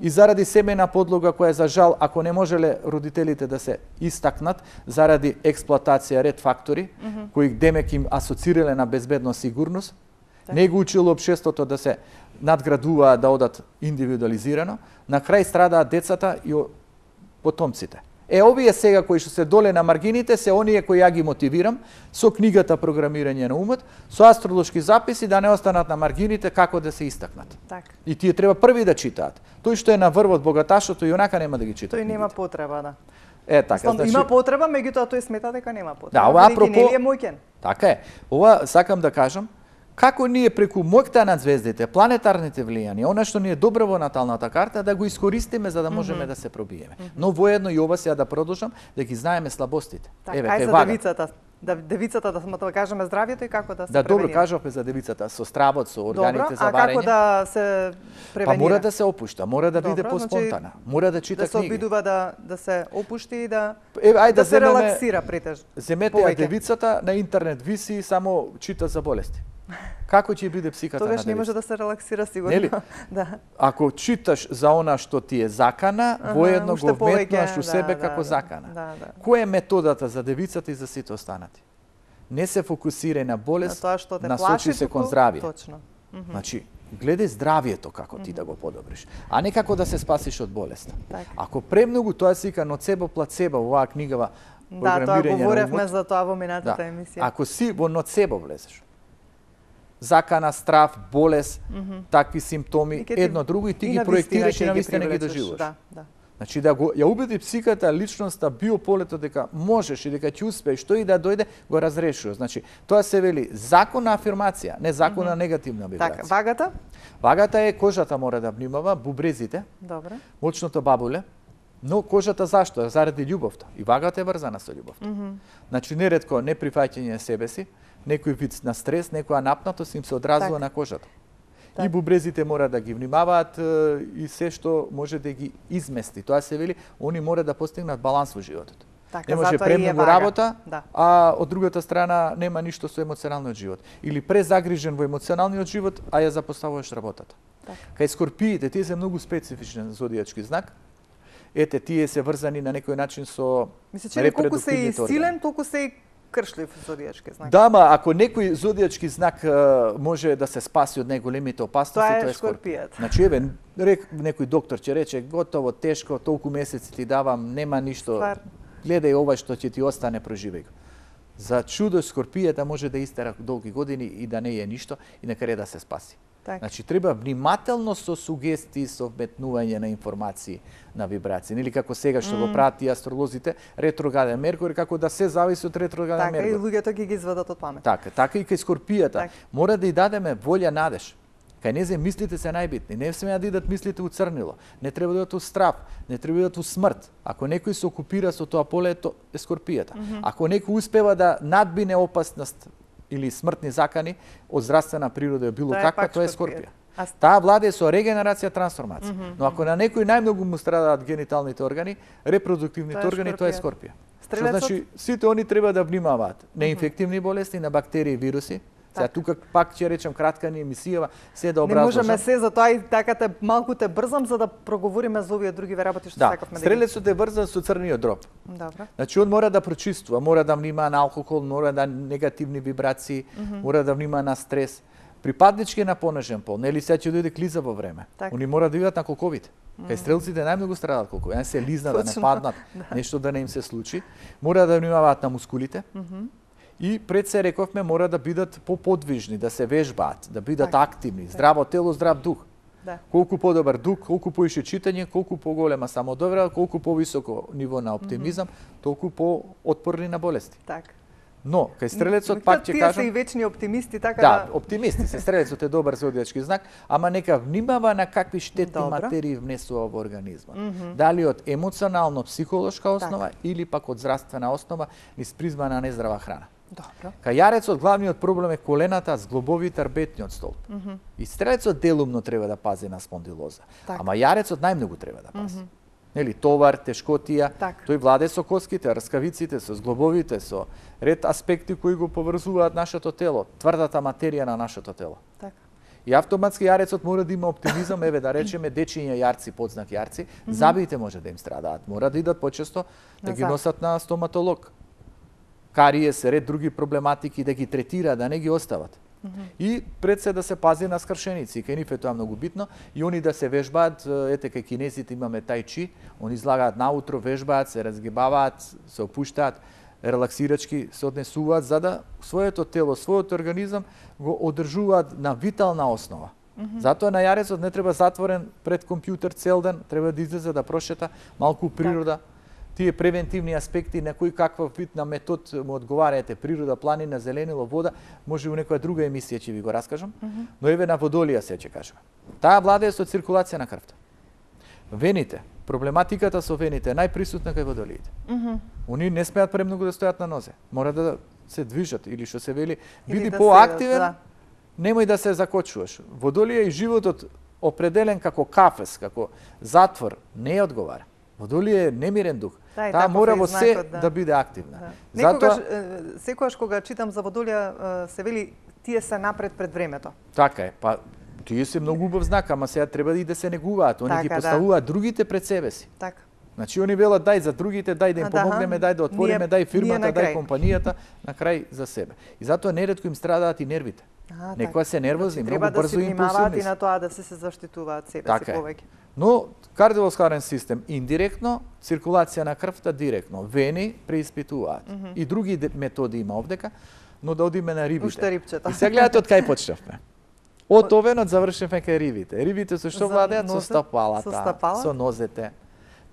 и заради семејна подлога која за жал, ако не можеле родителите да се истакнат, заради експлоатација ред фактори, mm -hmm. кои демек им асоцирале на безбедност, сигурност, так. Не го учило општеството да се надградуваат, да одат индивидуализирано, на крај страдаат децата и потомците. Е, овие сега кои што се доле на маргините, се оние кои ја ги мотивирам со книгата Програмирање на умот, со астролошки записи да не останат на маргините како да се истакнат. Так. И тие треба први да читаат. Тој што е на врвот богаташото и онака нема да ги чита. Тој нема потреба, да. Е, така, Стан, значи... Има потреба, меѓутоа тој смета дека нема потреба. Да, ова апропо... Не е мојкен. Така е. Ова сакам да кажам, како ние преку моќта над звездите, планетарните влијанија, она што ни е добро во наталната карта, да го искористиме за да можеме mm -hmm. да се пробиеме. Mm -hmm. Но воедно и ова сега да продолжам, да ги знаеме слабостите. Так, Еве, ај за вага. девицата, да девицата да сме тоа кажеме здравието и како да се да, превенира. Добро кажавме за девицата, со стравот, со органите добро, за варење. А како да се превенира? Па мора да се опушта, мора да биде поспонтана, значи, мора да чита да книги. Да се обидува да да се опушти и да Еве, ајде да, да се земеме, релаксира претежно. Земете ја девицата на интернет виси само чита за болести. Како ќе биде психата на девицата? Тогаш не може да се релаксира сигурно. Нели? Да. Ако читаш за она што ти е закана, ага, воедно го вметнуваш у себе да, како да, закана. Да, да. Која е методата за девицата и за сите останати? Не се фокусирај на болест, на тоа што те насочи плаши, се кон здравје. Точно. Mm -hmm. Значи, гледај здравието како ти mm -hmm. да го подобриш, а не како да се спасиш од болеста. Так. Ако премногу тоа се вика ноцебо плацебо, оваа книгава да, тоа говоревме за тоа во минатата да. емисија. Ако си во ноцебо влезеш, закана, страв, болест, mm -hmm. такви симптоми, ти, едно друго и ти и ги проектираш и навистина ги доживуваш. Да, да. Значи да го ја убеди психиката, личноста, биополето дека можеш и дека ќе успееш, што и да дојде, го разрешува. Значи тоа се вели закон на афирмација, не закон на mm -hmm. негативна вибрација. Така, вагата? Вагата е кожата мора да внимава, бубрезите, добре, мочното бабуле, но кожата зашто? Заради љубовта. И вагата е врзана со љубовта. Mm -hmm. Значи неретко неприфаќање себе си, некој вид на стрес, некоја напнатост им се одразува так. на кожата. Так. И бубрезите мора да ги внимаваат и се што може да ги измести. Тоа се вели, они мора да постигнат баланс во животот. Така, не може премногу работа, да. а од другата страна нема ништо со емоционалниот живот. Или презагрижен во емоционалниот живот, а ја запоставуваш работата. Так. Кај скорпиите, тие се многу специфичен зодијачки знак. Ете, тие се врзани на некој начин со Мисле, че колку се и силен, толку се и кршлив зодијачки знак. Да, ма ако некој зодијачки знак а, може да се спаси од најголемите опасности, тоа е, тоа е скорпијат. Значи, еве, рек, некој доктор ќе рече, готово, тешко, толку месеци ти давам, нема ништо. Твар. Гледај ова што ќе ти остане, проживеј го. За чудо скорпијата може да истера долги години и да не е ништо и на крај да се спаси. Так. Значи, треба внимателно со сугестии, со вметнување на информации, на вибрации. Или како сега што mm. го прати астролозите, ретрограден Меркури, како да се зависи од ретрограден Меркури. Така, и луѓето ги ги извадат од памет. Така, така и кај скорпијата. Так. Мора да ја дадеме волја, надеж. Кај незе мислите се најбитни. Не смеа да идат мислите у црнило. Не треба да идат у страв, не треба да идат у смрт. Ако некој се окупира со тоа поле, то е скорпијата. Mm -hmm. Ако некој успева да надбине опасност или смртни закани од здравствена природа било каква, тоа е скорпија. А... Таа владе со регенерација, трансформација. Mm -hmm. Но ако на некој најмногу му страдаат гениталните органи, репродуктивните тоа органи, тоа е скорпија. Што значи сите они треба да внимаваат на инфективни болести, на бактерии и вируси. Сега тука пак ќе речем кратка ни емисија, се да образложам. Не можеме се, затоа и така те малку те брзам за да проговориме за овие други работи што да, сакавме да. Стрелецот е врзан со црниот дроб. Добро. Значи он мора да прочиствува, мора да внимава на алкохол, мора да негативни вибрации, mm -hmm. мора да внимава на стрес. Припаднички е на понажен пол, нели сега ќе дојде клиза во време. Так. Они мора да видат на колковите. Mm -hmm. Кај стрелците најмногу страдаат колкови, не се лизнат, да не паднат, да. Нешто да не им се случи. Мора да внимаваат на мускулите. Mm -hmm. И пред се рековме мора да бидат поподвижни, да се вежбаат, да бидат так, активни, здраво тело, здрав дух. Да. Колку подобар дух, колку поише читање, колку поголема самодоверба, колку повисоко ниво на оптимизам, mm -hmm. толку поотпорни на болести. Так. Но кај стрелецот пак ќе кажам, тие се и вечни оптимисти, така да. Да, оптимисти се, стрелецот е добар зодијачки знак, ама нека внимава на какви штетни Добро. материи внесува во организмот. Mm -hmm. Дали од емоционално-психолошка основа так. или пак од здравствена основа низ призма на нездрава храна. Добро. Кај јарецот главниот проблем е колената, зглобовите, арбетниот столб. Mm -hmm. И стрелецот делумно треба да пази на спондилоза. Так. Ама јарецот најмногу треба да пази. Mm -hmm. Нели, товар, тешкотија, так. Тој владе со коските, раскавиците, со зглобовите, со ред аспекти кои го поврзуваат нашето тело, тврдата материја на нашето тело. Так. И автоматски јарецот мора да има оптимизам, еве да речеме дечиња јарци, подзнак јарци, mm -hmm. забиите може да им страдаат, мора да идат почесто да ги носат на стоматолог. Кариес, ред други проблематики да ги третира, да не ги остават. Mm -hmm. И пред се да се пази на скршеници, кај нив е тоа многу битно, и они да се вежбаат, ете кај кинезите имаме тај чи, они излагаат наутро, вежбаат, се разгибаваат, се опуштаат, релаксирачки се однесуваат за да своето тело, својот организам го одржуваат на витална основа. Mm -hmm. Затоа на јарецот не треба затворен пред компјутер цел ден, треба да излезе да прошета малку природа. Тие превентивни аспекти на кој каква вид на метод му одговараете, природа, планина, зеленило, вода, може у некоја друга емисија ќе ви го раскажам, mm -hmm. но еве на водолија се ќе кажам. Таа владее со циркулација на крвта. Вените, проблематиката со вените е најприсутна кај водолиите. Mm -hmm. Они не смеат премногу да стојат на нозе. Мора да се движат или што се вели, биди да поактивен, да. Немој да се закочуваш. Водолија и животот определен како кафес, како затвор, не ја одговара. Водолија е немирен дух. Да, таа мора во се да. да биде активна. Да. Некогаш, Затоа секогаш кога читам за водолија се вели тие се напред пред времето. Така е, па тие се многу убав знак, ама сега треба и да се негуваат. Они така, ги поставуваат да. другите пред себе си. Така. Значи они велат дај за другите, дај да им помогнеме, дај да отвориме, дај фирмата, дај компанијата, на крај за себе. И затоа неретко им страдаат и нервите. А, некоја се нервозни, значи, многу брзо и импулсивни. И на тоа да се се заштитуваат себе така си повеќе. Но кардиоваскуларен систем индиректно, циркулација на крвта директно, вени преиспитуваат. Mm -hmm. И други методи има овдека, но да одиме на рибите. Уште рибчета. И сега гледате од кај почнавме. Од овенот завршивме кај рибите. Рибите со што владеат? Со стапалата, со, стапала? со нозете.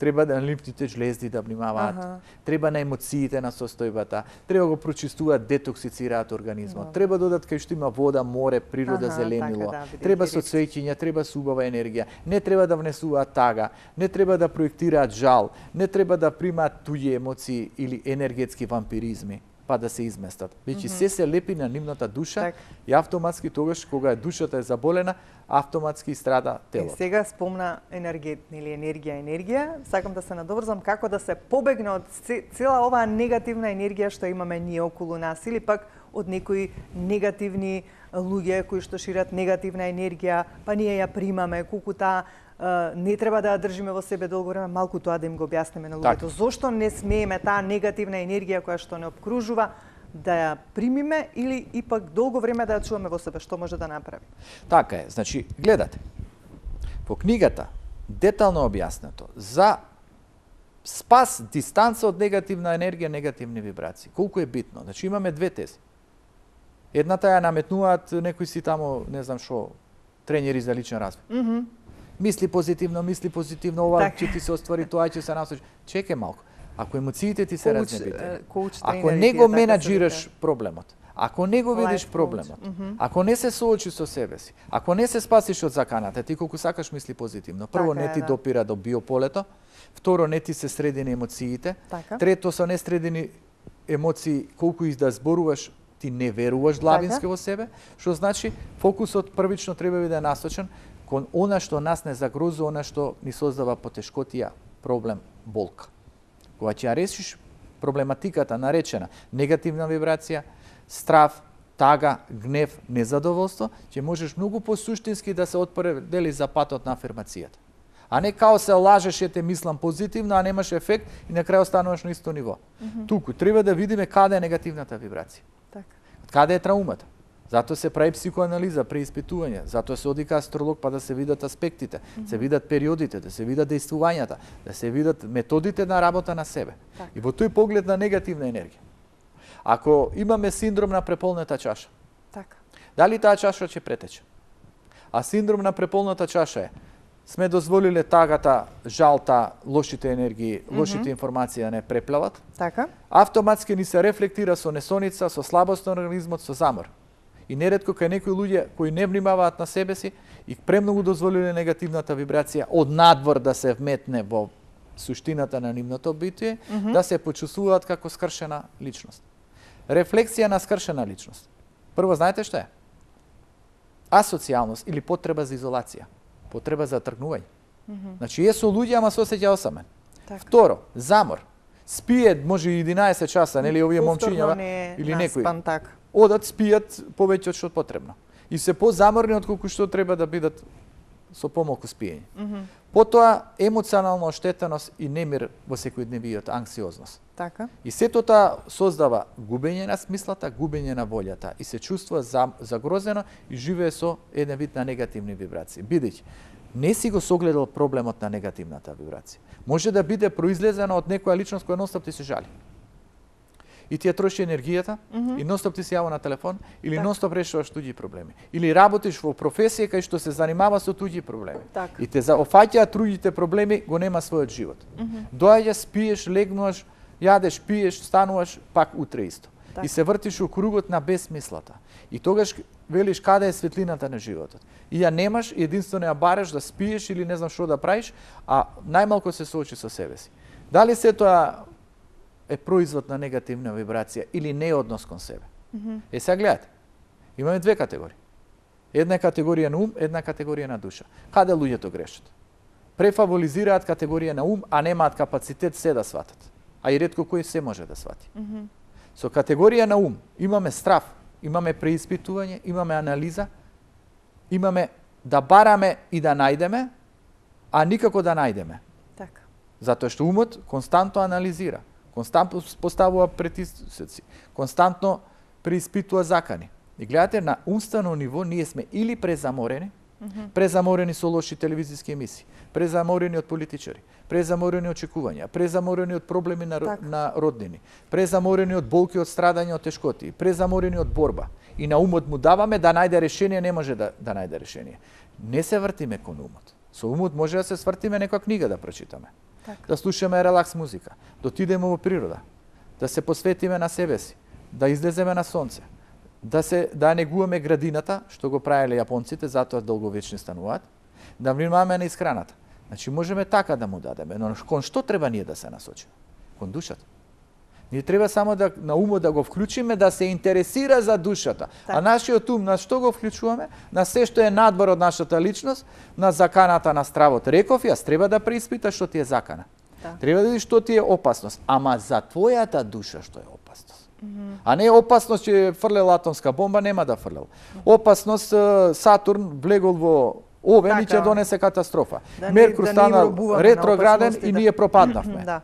Треба да на лимфните жлезди да внимаваат, ага. треба на емоциите на состојбата, треба го прочистуваат, детоксицираат организмот, no. треба да додат кај што има вода, море, природа, ага, зеленило, така, да, треба со цвеќиња, треба со убава енергија, не треба да внесуваат тага, не треба да проектираат жал, не треба да примаат туѓи емоции или енергетски вампиризми, па да се изместат. Веќе mm -hmm. се се лепи на нивната душа так. И автоматски тогаш кога душата е заболена, автоматски страда телото. И сега спомна енергет, или енергија, енергија, сакам да се надоврзам како да се побегне од цела оваа негативна енергија што имаме ние околу нас или пак од некои негативни луѓе кои што шират негативна енергија, па ние ја примаме, колку таа не треба да ја држиме во себе долго време, малку тоа да им го објасниме на луѓето. Зошто не смееме таа негативна енергија која што не обкружува да ја примиме или ипак долго време да ја чуваме во себе, што може да направи? Така е, значи, гледате, во книгата детално објаснато за спас, дистанца од негативна енергија, негативни вибрации. Колку е битно? Значи, имаме две тези. Едната ја наметнуваат некои си тамо, не знам шо, тренери за личен развој. Mm -hmm. Мисли позитивно, мисли позитивно, ова так. ќе ти се оствари, тоа ќе се насочи. Чекај малку. Ако емоциите ти се разнебитени, ако не го менаџираш проблемот, ако не го видиш проблемот, mm -hmm. ако не се соочи со себе си, ако не се спасиш од заканата, ти колку сакаш мисли позитивно. Прво, така не ти е, да. допира до биополето, второ, не ти се средени емоциите, така. Трето, со несредени емоции, колку и да зборуваш, ти не веруваш длабински во себе, што значи фокусот првично треба да е насочен кон она што нас не загрозува, она што ни создава потешкотија, проблем, болка. Кога ќе ја решиш проблематиката наречена негативна вибрација, страв, тага, гнев, незадоволство, ќе можеш многу посуштински да се отпредели за патот на афирмацијата. А не као се лажеш, ете мислам позитивно, а немаш ефект и на крај остануваш на исто ниво. Mm -hmm. Туку треба да видиме каде е негативната вибрација. Так. Каде е траумата. Затоа се прави психоанализа, преиспитување, затоа се оди кај астролог па да се видат аспектите, mm -hmm. се видат периодите, да се видат дејствувањата, да се видат методите на работа на себе. Так. И во тој поглед на негативна енергија. Ако имаме синдром на преполнета чаша, така. Дали таа чаша ќе претече? А синдром на преполната чаша е сме дозволиле тагата, жалта, лошите енергии, лошите mm -hmm. информации да не преплават. Така. Автоматски ни се рефлектира со несоница, со слабост на организмот, со замор. И неретко кај некои луѓе кои не внимаваат на себе си и премногу дозволиле негативната вибрација од надвор да се вметне во суштината на нивното битие, mm -hmm. да се почувствуваат како скршена личност. Рефлексија на скршена личност. Прво, знаете што е? Асоцијалност или потреба за изолација. Потреба за тргнување. Mm -hmm. Значи, е со луѓе, ама се осеќа осамен. Так. Второ, замор. Спие, може и единаесет часа, нели овие момчиња или некои. Так. Одат, спијат повеќе од што потребно. и се позаморни отколку што треба да бидат со помалку спиење. Mm -hmm. Потоа емоционална оштетеност и немир во секојдневиот, анксиозност. Така. И сето тоа создава губење на смислата, губење на волјата и се чувствува загрозено и живее со еден вид на негативни вибрации. Бидејќи не си го согледал проблемот на негативната вибрација. Може да биде произлезена од некоја личност која нонстоп ти се жали. И ти ја троши енергијата, mm -hmm. и нонстоп ти се јава на телефон, или так. нонстоп решаваш туѓи проблеми. Или работиш во професија кај што се занимава со туѓи проблеми. Так. И те заофаќаат туѓите проблеми, го нема својот живот. Mm -hmm. Доаѓаш, спиеш, легнуваш, јадеш, пиеш, стануваш, пак утре исто. Так. И се вртиш у кругот на безсмислата. И тогаш велиш каде е светлината на животот. И ја немаш, единствено ја бараш да спиеш или не знам што да правиш, а најмалку се соочи со себе си. Дали се тоа е производ на негативна вибрација или не однос кон себе? Mm -hmm. Е, сега гледате, имаме две категории. Една категорија на ум, една категорија на душа. Каде луѓето грешат? Префаволизираат категорија на ум, а немаат капацитет се да сватат. А и ретко кој се може да свати. Mm -hmm. Со категорија на ум имаме страв, имаме преиспитување, имаме анализа, имаме да бараме и да најдеме, а никако да најдеме. Така. Затоа што умот константно анализира, константно поставува претисоци, константно преиспитува закани. И гледате, на умствено ниво ние сме или презаморени, mm -hmm. презаморени со лоши телевизиски емисии, презаморени од политичари, презаморени од очекувања, презаморени од проблеми на, так. на роднини, презаморени од болки, од страдање, од тешкоти, презаморени од борба. И на умот му даваме да најде решение, не може да, да најде решение. Не се вртиме кон умот. Со умот може да се свртиме некоја книга да прочитаме, так. да слушаме релакс музика, да отидеме во природа, да се посветиме на себе си, да излеземе на сонце, да се да негуваме градината, што го правеле јапонците, затоа долговечни стануваат, да внимаваме на исхраната. Значи можеме така да му дадеме, но кон што треба ние да се насочиме? Кон душата. Ние треба само да на умот да го вклучиме, да се интересира за душата. Так. А нашиот ум на што го вклучуваме? На се што е надвор од нашата личност, на заканата на стравот. Реков јас, треба да преиспиташ што ти е закана. Так. Треба да видиш што ти е опасност, ама за твојата душа што е опасност. Mm -hmm. А не опасност че фрлел атомска бомба, нема да фрлел. Опасност Сатурн влегол во Овен и ќе донесе катастрофа. Да Меркур да стана ретрограден и ние пропаднавме. Да.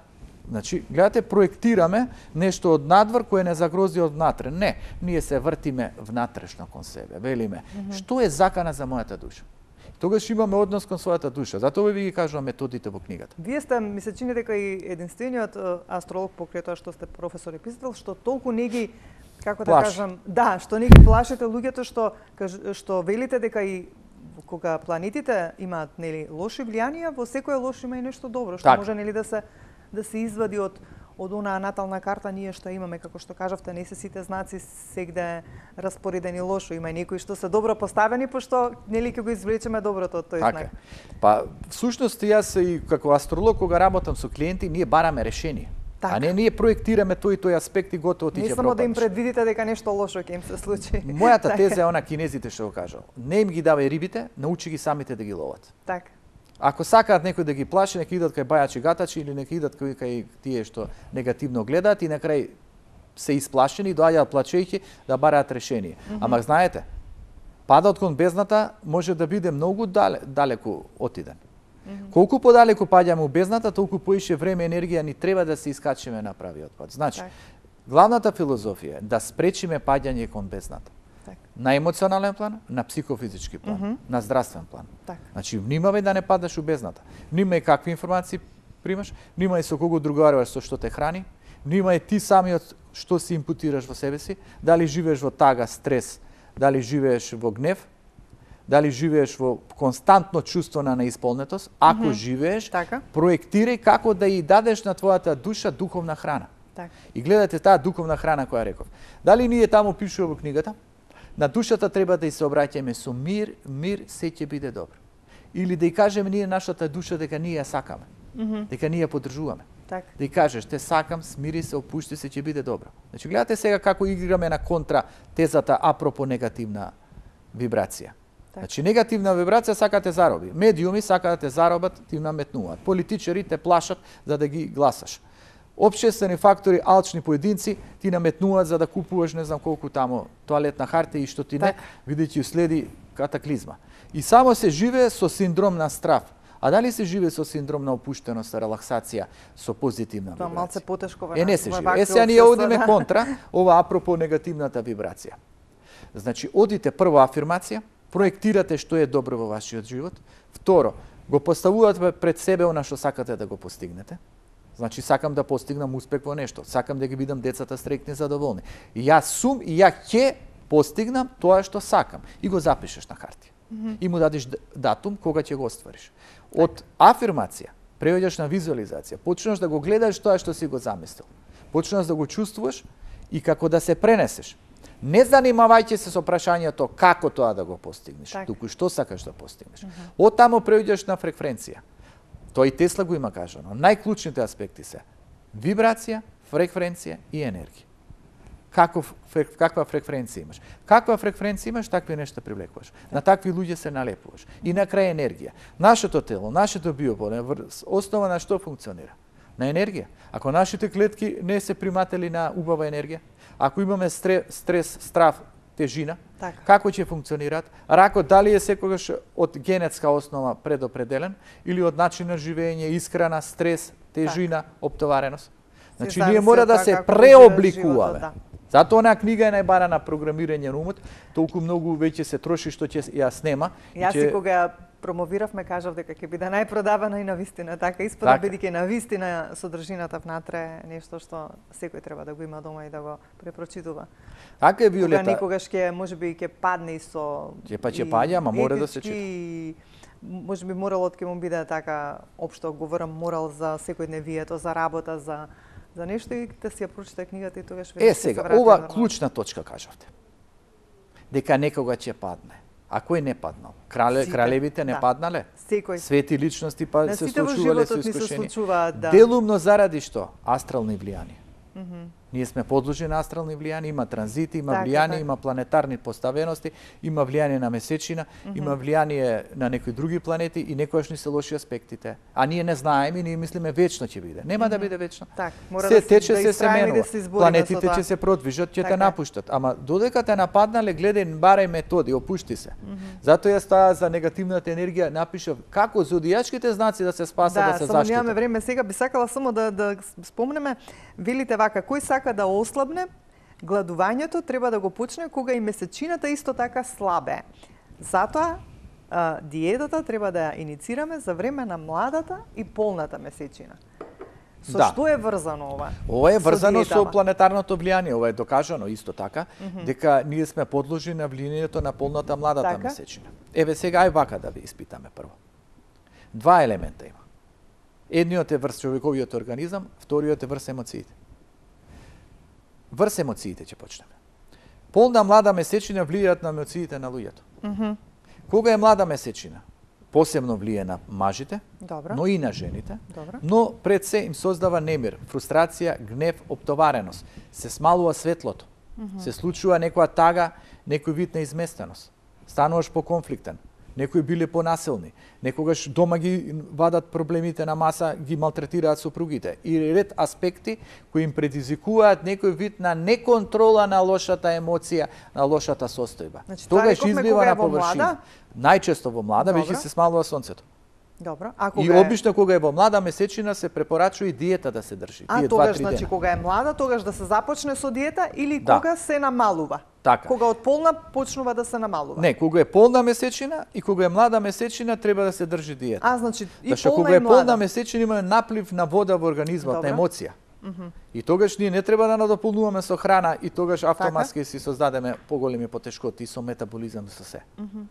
Значи, гледате, проектираме нешто од надвор кое не загрози од внатре. Не, ние се вртиме внатрешно кон себе. Велиме, mm -hmm. што е закана за мојата душа? Тогаш имаме однос кон својата душа. Затоа ви ги кажувам методите во книгата. Вие сте, ми се чини дека и единствениот астролог покрај тоа што сте професор и писател, што толку не ги, како да Плаш. кажам, да, што не ги плашите луѓето што што велите дека и кога планетите имаат нели лоши влијанија, во секој лош има и нешто добро, што так. може нели да се да се извади од од онаа натална карта ние што имаме, како што кажавте, не се сите знаци сегде распоредени лошо, има и некои што се добро поставени, пошто нели ќе го извлечеме доброто од тој така. знак. Па всушност јас и како астролог кога работам со клиенти, ние бараме решение. Так. А не ние проектираме тој и тој аспект и готово ти ќе пропаднеш. Не само да им предвидите дека нешто лошо ќе им се случи. Мојата теза е она кинезите што го кажал. Не им ги давај рибите, научи ги самите да ги ловат. Така. Ако сакаат некој да ги плаши, нека идат кај бајачи гатачи или нека идат кај, кај тие што негативно гледаат и на крај се исплашени и доаѓаат плачејќи да бараат решение. Mm -hmm. Ама знаете, падот кон бездната може да биде многу дале, далеку отиден. Mm -hmm. Колку подалеку паѓаме у бездната, толку поише време и енергија ни треба да се искачиме на правиот пат. Значи, так. главната филозофија е да спречиме паѓање кон бездната. Так. На емоционален план, на психофизички план, mm -hmm. на здравствен план. Так. Значи, внимавај да не падаш у бездната. Внимај какви информации примаш, внимај со кого другаруваш, со што те храни, внимај ти самиот што си импутираш во себе си, дали живееш во тага, стрес, дали живееш во гнев, дали живееш во константно чувство на неисполнетост. Ако mm -hmm. живееш, така. проектирај како да ја дадеш на твојата душа духовна храна. Так. И гледате таа духовна храна која реков. Дали ние таму пишува во книгата? На душата треба да ја се обраќаме со мир, мир, се ќе биде добро. Или да ја кажеме ние нашата душа дека ние ја сакаме, mm -hmm. дека ние ја поддржуваме. Так. Да ја кажеш, те сакам, смири се, опушти се, ќе биде добро. Значи, гледате сега како играме на контра тезата апропо негативна вибрација. Так. Значи, негативна вибрација сака те зароби. Медиуми сака да те заробат, ти наметнуваат. Политичари те плашат за да ги гласаш. Обшествени фактори, алчни поединци ти наметнуваат за да купуваш не знам колку тамо тоалетна хартија и што ти не, видејќи следи катаклизма. И само се живее со синдром на страв. А дали се живее со синдром на опуштеност, релаксација, со позитивна вибрација? Тоа малце потешко во Е, не се живее. Е, сега ние одиме контра, ова апропо негативната вибрација. Значи, одите прво афирмација, проектирате што е добро во вашиот живот. Второ, го поставувате пред себе она што сакате да го постигнете. Значи, сакам да постигнам успех во нешто, сакам да ги бидам децата среќни и задоволни. И јас сум и ја ќе постигнам тоа што сакам. И го запишеш на хартија. Mm -hmm. И му дадеш датум кога ќе го оствариш. Од афирмација преоѓаш на визуализација, почнеш да го гледаш тоа што си го замислил. Почнеш да го чувствуваш и како да се пренесеш. Не занимавајќи се со прашањето како тоа да го постигнеш, так. туку што сакаш да постигнеш. Mm -hmm. Од таму преоѓаш на фреквенција. Тоа и Тесла го има кажано. Најклучните аспекти се вибрација, фреквенција и енергија. Каков, каква фреквенција имаш? Каква фреквенција имаш, такви нешта привлекуваш. На такви луѓе се налепуваш. И на крај енергија. Нашето тело, нашето биополе, основа на што функционира? На енергија. Ако нашите клетки не се приматели на убава енергија, ако имаме стрес, стрес страв, тежина, така. Како ќе функционираат? Ракот дали е секогаш од генетска основа предопределен или од начин на живење, исхрана, стрес, тежина, така. Оптовареност? Значи, ние мора да се преобликуваме. Да. Затоа онаа книга е најбара на програмирање на умот, толку многу веќе се троши што ќе ја снема. Јас и кога ја промовиравме, кажав дека ќе биде најпродавана и на вистина, така испада бидејќи на вистина содржината внатре е нешто што секој треба да го има дома и да го препрочитува. Така е, Виолета. Кога некогаш ќе можеби ќе падне и со ќе па ќе паѓа, ама мора да се чита. И можеби моралот ќе му биде така општо говорам морал за секојдневието, за работа, за за нешто и да си ја прочита книгата и тогаш веќе Е, сега, ова нормално. Клучна точка кажавте. Дека некога ќе падне. А кој не паднал? Крале, Сите, кралевите не да. паднале? Секој. Свети личности па На се случувале со искушени. Да. Делумно заради што? Астрални влијанија. Mm -hmm. Ние сме подложени на астрални влијанија, има транзити, има така, влијание, така. има планетарни поставености, има влијание на месечина, mm -hmm. има влијание на некои други планети и некојаш ни се лоши аспектите. А ние не знаеме и ние мислиме вечно ќе биде. Нема mm -hmm. да биде вечно. Так, мора се да тече, да се се менува. Да планетите ќе се продвижат, ќе те напуштат. Ама додека те нападнале, гледај барај методи, опушти се. Mm -hmm. Затоа јас таа за негативната енергија напишав како зодијачките знаци да се спасат, да, да се заштитат. Да, само немаме време сега, би сакала само да да спомнеме, велите вака, кој сака да ослабне, гладувањето треба да го почне кога и месечината исто така слабе. Затоа а, диетата треба да ја иницираме за време на младата и полната месечина. Со да. што е врзано ова? Ова е врзано со, со планетарното влијание, ова е докажано исто така, mm -hmm. дека ние сме подложени на влијанието на полната младата така? месечина. Еве сега ај вака да ви испитаме прво. Два елемента има. Едниот е врз човековиот организам, вториот е врз емоциите. Врз емоциите ќе почнеме. Полна млада месечина влијаат на емоциите на луѓето. Mm -hmm. Кога е млада месечина, посебно влијае на мажите, Добро. но и на жените, Добро. но пред се им создава немир, фрустрација, гнев, оптовареност. Се смалува светлото, mm -hmm. се случува некоја тага, некој вид на изместеност. Стануваш поконфликтен, некои биле понасилни, некогаш дома ги вадат проблемите на маса, ги малтретираат сопругите и ред аспекти кои им предизвикуваат некој вид на неконтрола на лошата емоција, на лошата состојба. Значи, тогаш излива на површина. Најчесто во млада, веќе се смалува сонцето. Добро. А кога и обично кога е во млада месечина се препорачува и диета да се држи. А Тие тогаш, два, значи, кога е млада, тогаш да се започне со диета или да. кога се намалува? Така. Кога од полна почнува да се намалува? Не, кога е полна месечина и кога е млада месечина треба да се држи диета. А, значи, и Зашто полна кога и е млада. полна месечина има наплив на вода во организмот, Добро. на емоција. Mm -hmm. И тогаш ние не треба да надополнуваме со храна и тогаш автоматски си создадеме поголеми потешкоти и со метаболизам и со се. Mm -hmm.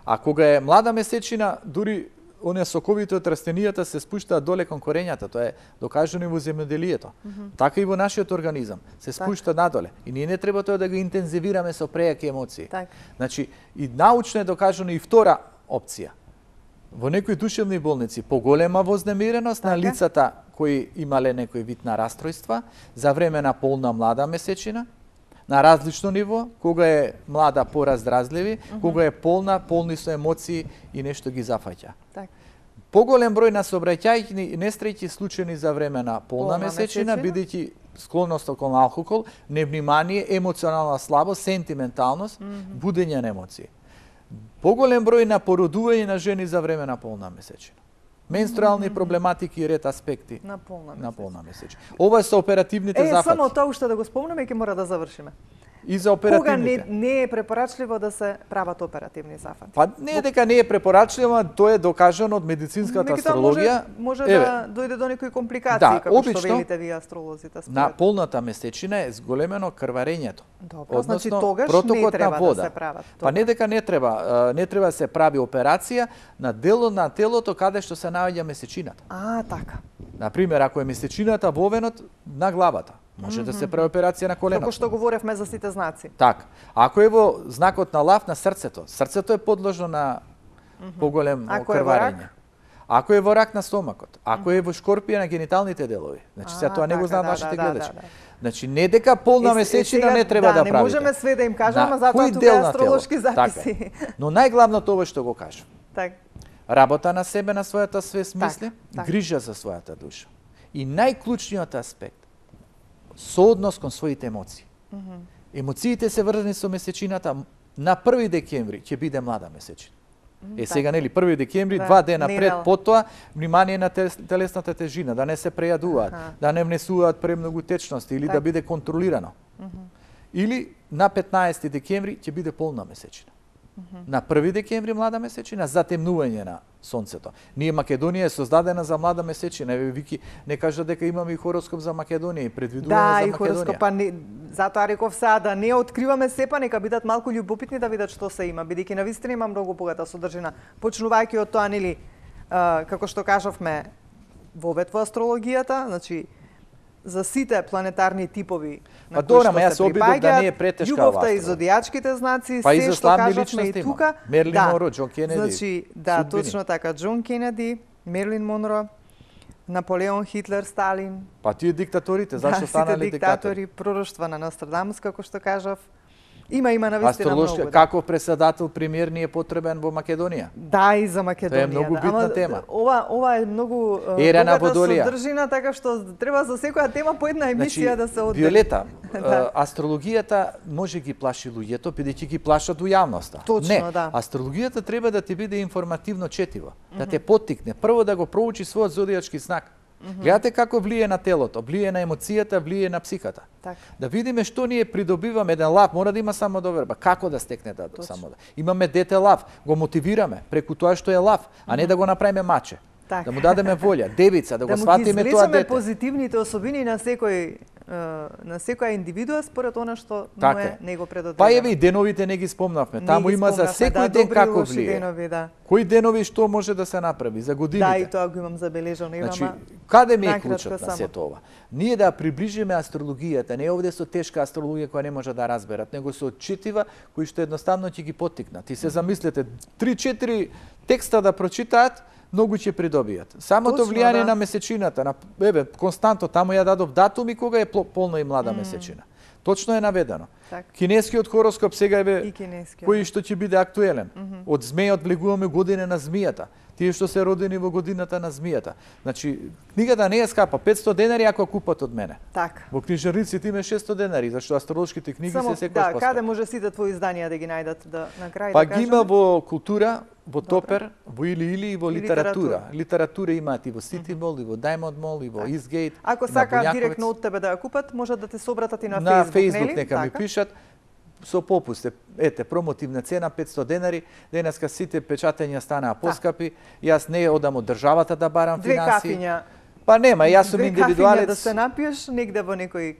А кога е млада месечина, дури оние соковите од растенијата се спуштаат доле кон корењата, тоа е докажано и во земјоделието. Mm -hmm. Така и во нашиот организам се спушта так. надоле. И ние не треба тоа да го интензивираме со прејаки емоции. Так. Значи, и научно е докажано и втора опција. Во некои душевни болници поголема вознемиреност така. на лицата кои имале некој вид на растројства за време на полна млада месечина, на различно ниво, кога е млада пораздразливи, mm -hmm. кога е полна, полни со емоции и нешто ги зафаќа. Так. Поголем број на сообраќајни несреќи случајни за време на полна, полна месечина, бидејќи склонност кон алкохол, невнимание, емоционална слабост, сентименталност, mm -hmm. будење на емоции. Поголем број на породување на жени за време на полна месечина. Менструални mm -hmm. проблематики и ред аспекти на полна месечина. На полна месечина. Ова се оперативните е, зафати. Е, само тоа уште да го спомнеме и ќе мора да завршиме. И за оперативните. Кога не, не е препорачливо да се прават оперативни зафати? Па не е дека не е препорачливо, тоа е докажано од медицинската астрологија. Може, може да дојде до некои компликации, да, како обично, што велите вие астролозите. Според. На полната месечина е зголемено крварењето. Добро, значи тогаш не треба вода. да се прават. Па не дека не треба, не треба да се прави операција на дело на телото каде што се наоѓа месечината. А, така. Например, ако е месечината во овенот на главата, може mm -hmm. да се прави операција на коленото. Како што говоревме за сите знаци. Така. Ако е во знакот на лав на срцето, срцето е подложно на mm -hmm. поголем крварење. Ако е во рак на стомакот, ако е во шкорпија на гениталните делови, значи сега тоа не го знаат нашите да, гледачи. Да, да, да. Значи не дека полна месечина не треба да, да правите. Не можеме све да им кажеме, ама затоа тука е астролошки записи. Така. Но најглавното ова што го кажам. Так. Работа на себе, на својата свест мисли, так. грижа за својата душа. И најклучниот аспект, сооднос кон своите емоции. Mm -hmm. Емоциите се врзани со месечината. На први декември ќе биде млада месечина. Е, сега, нели, први декември, да, два дена пред потоа, внимание на телесната тежина, да не се прејадуваат, ага. да не внесуваат премногу течности или так. да биде контролирано. Mm -hmm. Или на петнаесети декември ќе биде полна месечина. Mm -hmm. На први декември млада месечина, затемнување на сонцето. Ние Македонија е создадена за млада месечина. Еве Вики не кажа дека имаме и хороскоп за Македонија и предвидување да, за Македонија. Да, и хороскопа не, затоа реков сега да не откриваме сепа, нека бидат малку љубопитни да видат што се има, бидејќи навистина има многу богата содржина. Почнувајќи од тоа, нели, а, како што кажавме, вовед во астрологијата, значи за сите планетарни типови на кои што се припаѓаат, да не е претешка љубовта и зодијачките знаци, па се што кажавме и тука. Мерлин да. Монро, Џон Кенеди. Значи, да, судбини. Точно така, Џон Кенеди, Мерлин Монро, Наполеон, Хитлер, Сталин. Па тие диктаторите, зашто да, станале диктатори? Пророштва на Нострадамус, како што кажав. Има, има навистина многу. Да. Каков преседател премиер ни е потребен во Македонија? Да, и за Македонија. Тоа е многу да. битна Ама, тема. Ова, ова е многу Ера на Водолија. Содржина, така што треба за секоја тема по една емисија значи, да се одржи. Виолета, да. астрологијата може ги плаши луѓето, бидејќи ги плашат у јавноста. Точно, не, да. астрологијата треба да ти биде информативно четива, mm -hmm. да те поттикне. Прво да го проучи својот зодијачки знак. Mm -hmm. Гледате како влие на телото, влие на емоцијата, влие на психата. Так. Да видиме што ние придобиваме. Еден лав мора да има самодоверба. Како да стекне да самодоверба? Имаме дете лав, го мотивираме преку тоа што е лав, а не да го направиме маче. Так. Да му дадеме волја, девица, да, да го сватиме тоа дете. Да му ги позитивните особини на секој на секоја индивидуа според она што му е него предодредено. Па еве и деновите не ги спомнавме. Таму има за секој да, ден како влие. Денови, да. Кои денови што може да се направи за годините? Да, и тоа го имам забележано. Значи, каде ми е клучот на сето ова? Ние да приближиме астрологијата, не овде со тешка астрологија која не може да разберат, него со четива кои што едноставно ќе ги поттикнат. И се замислете, три-четири текста да прочитаат, многу ќе придобијат. Самото Точно, влијание да. на месечината, на еве константо таму ја дадов датуми кога е полна и млада mm. месечина. Точно е наведено. Так. Кинескиот хороскоп сега еве кој што ќе биде актуелен. Mm -hmm. Од змејот влегуваме година на змијата. Тие што се родени во годината на змијата. Значи, книгата не е скапа, петсто денари ако купат од мене. Так. Во книжарниците има шестсто денари, зашто астролошките книги Само, се секојаш да, поскапи. каде може сите твои изданија да ги најдат да на крај па да ги има во култура, во Топер, во Или Или и во литература. литература. Литература имаат и во Сити Мол, и во Даймонд Мол, и во Истгейт. Ако сака директно од тебе да ја купат, може да те се обратат и на, на Facebook, Facebook, нели? нека ми пишат со попуст. Ете, промотивна цена петсто денари. Денеска сите печатења станаа поскапи. Јас не одам од државата да барам Две финанси. Кафиња. Па нема, јас сум индивидуалец. Две кафиња да се напиеш негде во некој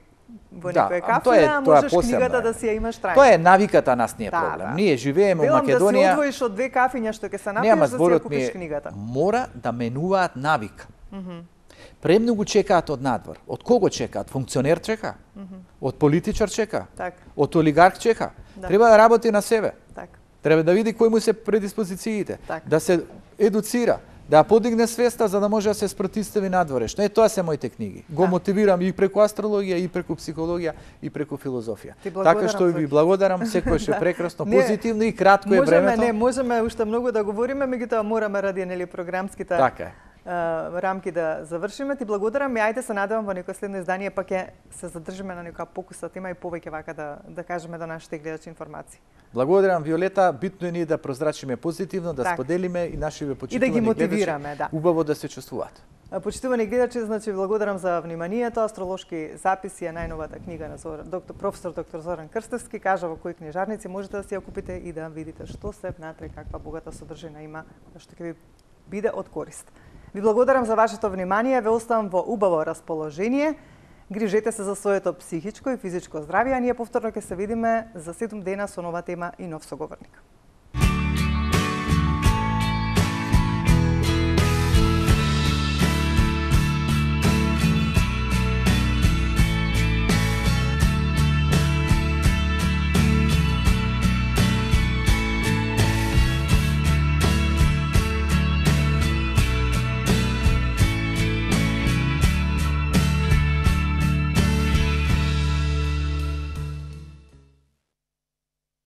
во да, некоја кафена, тоа е, а тоа можеш посебно книгата е. да си ја имаш трајно. Тоа е навиката, нас не е да, проблем. Да. Ние живееме во Македонија. Велам да се одвоиш од две кафиња што ќе се напиеш, да си ја купиш книгата. Мора да менуваат навик. Mm -hmm. Премногу чекаат од надвор. Од кого чекаат? Функционер чека? Mm -hmm. Од политичар чека? Так. Од олигарх чека? Да. Треба да работи на себе. Так. Треба да види кои му се предиспозициите, так. да се едуцира, Да подигне свеста за да може да се спротивстави надворешно. Е, тоа се моите книги. Го да. мотивирам и преку астрологија, и преку психологија, и преку филозофија. Така што ви благодарам, секојаш е прекрасно, позитивно и кратко е можеме, времето. Не, можеме уште многу да говориме, меѓутоа мораме ради нели програмските така е. рамки да завршиме. Ти благодарам и ајде се надевам во некој следно издание пак ќе се задржиме на некоја покуса тема и повеќе вака да да кажеме до нашите гледачи информации. Благодарам Виолета, битно е ние да прозрачиме позитивно, да так. споделиме и нашиве почитувани и да ги мотивираме, да. Убаво да се чувствуваат. Почитувани гледачи, значи благодарам за вниманието. Астролошки записи е најновата книга на Зоран, доктор професор доктор Зоран Крстевски, кажа во кои книжарници можете да си ја купите и да видите што се внатре, каква богата содржина има, што ќе ви биде од корист. Ви благодарам за вашето внимание, ве оставам во убаво расположение. Грижете се за своето психичко и физичко здравје, а ние повторно ќе се видиме за седум дена со нова тема и нов соговорник.